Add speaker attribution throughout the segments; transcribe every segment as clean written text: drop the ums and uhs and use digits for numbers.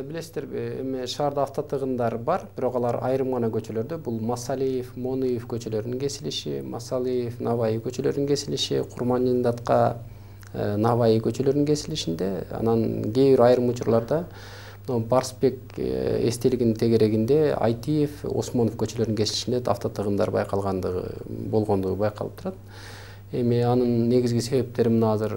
Speaker 1: билесиздер, эми шаарда автотыгындар бар, бирок алар айрым гана көчөлөрдө. Бул Масалиев, Мониев көчөлөрүнүн кесилиши, Масалиев, Наваи көчөлөрүнүн кесилиши, Курманжындатка, Наваи көчөлөрүнүн кесилишинде, анан кээ бир айрым учурларда Барсбек эстелигинин тегерегинде Айтиев, Осмонов көчөлөрүнүн кесилишинде автотыгындар болгондугу байкалып турат. Эми анын негизги себептери мына азыр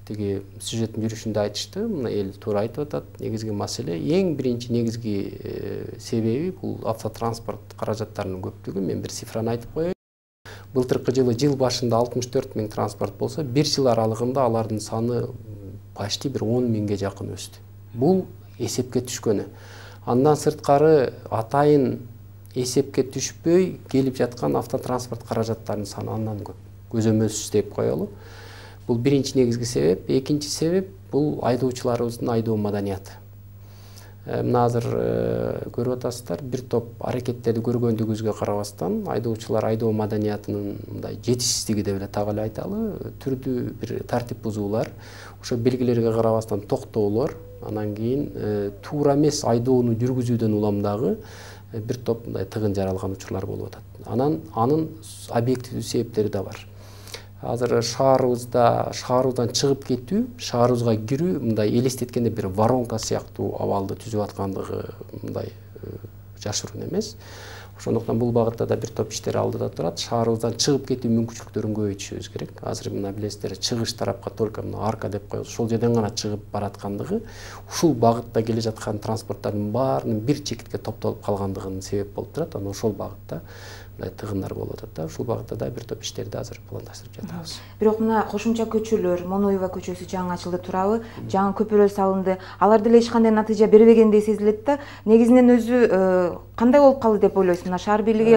Speaker 1: тиги сюжеттин жүрүшүндө айтышты. Мына эл туура айтып атат. Негизги маселе, эң биринчи негизги себеби бул автотранспорт каражаттарынын көптүгү. Мен бир цифраны айтып коеюн. Былтыркы жылы жыл башында 64 000 транспорт болсо, бир жыл аралыгында алардын саны почти бир 10 000ге жакын өстү. Бул эсепке түшкөнү. Андан сырткары атайын эсепке түшпөй келип жаткан автотранспорт каражаттарынын саны андан көп. Көзөмөлсүз деп коелу. Бул биринчи негизги себеп. Экинчи себеп бул айдоочуларыбыздын айдоо маданияты. Мына азыр көрүп атасыздар, бир топ аракеттерди көргөндүгүбүзгө карабастан, айдоочулар айдоо маданиятынын мындай жетишсиздиги деп эле так эле айталы. Түрдүү бир тартип бузуулар, ошо белгилерге карабастан токтоолор, анан кийин туура эмес айдоону жүргүзүүдөн улам дагы бир топ мындай тыгын жаралган учурлар болуп атат. Анын объективдүү себептери да бар. Азыр шаарыбыздан чыгып кетүү, шаарыбызга кирүү мындай элестеткенде бир воронка сыяктуу абалды түзүп аткандыгы мындай жашыруун эмес. Ошондуктан бул багытта да бир топ иштер алдыда турат. Шаарыбыздан чыгып кетүү мүмкүнчүлүктөрүн көбөйтүшүбүз керек. Азыр мына билесиздер, чыгыш тарапка только мына арка деп коебуз, ошол жерден гана чыгып бараткандыгы, ушул багытта келе жаткан транспорттардын баарынын бир чекитке топтолуп калгандыгынын себеп болуп турат. Анан ошол багытта мындай тыгындар болуп атат да. Ушул багытта да бир топ иштерди азыр пландаштырып жатабыз.
Speaker 2: Бирок мына кошумча көчөлөр, Моноева көчөсү жаңы ачылды туурабы? Жаңы көпүрөлөр салынды. Алар деле эч кандай натыйжа бербегендей сезилет да. Негизинен өзү кандай болуп калды деп ойлойсуң? Мына шаар бийлиги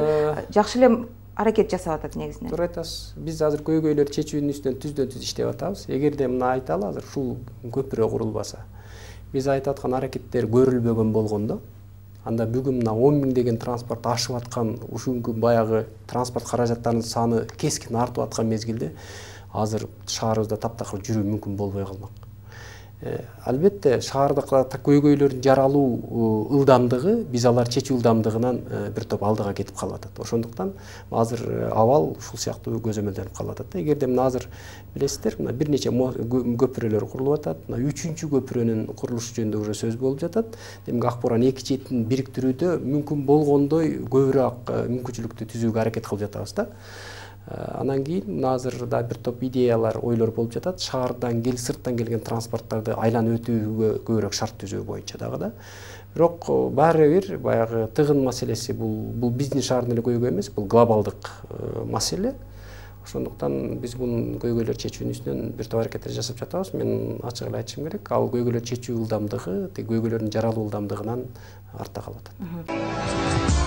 Speaker 2: жакшы эле аракет жасап атат негизинен.
Speaker 1: Туура айтасыз. Биз азыр көйгөйлөр чечүүнүн үстүнөн түздөн-түз иштеп атабыз. Эгерде мына айталы, азыр ушул көпүрө курулбаса, биз айтып аткан аракеттер көрүлбөгөн болгондо, анда бүгүн мына 10 000 деген транспорт ашып аткан, ушунгу баягы транспорт каражаттарынын саны кескин артып аткан мезгилде азыр шаарыбызда таптакыр жүрүү мүмкүн болбой калмак. Албетте шаарда көйгөйлөрдүн жаралуу ылдамдыгы, биз алар чечүү ылдамдыгынан бир топ алдыга кетип калып атат. Ошондуктан азыр абал ушул сыяктуу көзөмөлдөнүп калып атат. Эгерде мына азыр билесиздер, мына бир нече көпүрөлөр курулуп атат. Мына 3-чү көпүрөнүн курулушу жөнүндө уже сөз болуп жатат. Демек Акбуранын эки четин бириктирүүдө мүмкүн болгондой көбүрөөк мүмкүнчүлүктү түзүүгө аракет кылып жатабыз да. Анан кийин мына азыр да бир топ идеялар, ойлор болуп жатат. Шаардан сырттан келген транспорттарды айланып өтүүгө көбүрөөк шарт түзүү боюнча дагы да. Бирок баары бир баягы тыгын маселеси бул биздин шаардын эле көйгөй эмес, бул глобалдык маселе. Ошондуктан биз бунун көйгөйлөр чечүүнүн үстүнөн бир топ аракеттер жасап жатабыз. Мен ачык эле айтышым керек, ал көйгөйлөр чечүү ылдамдыгы, көйгөйлөрдүн жаралуу ылдамдыгынан артта калып атат.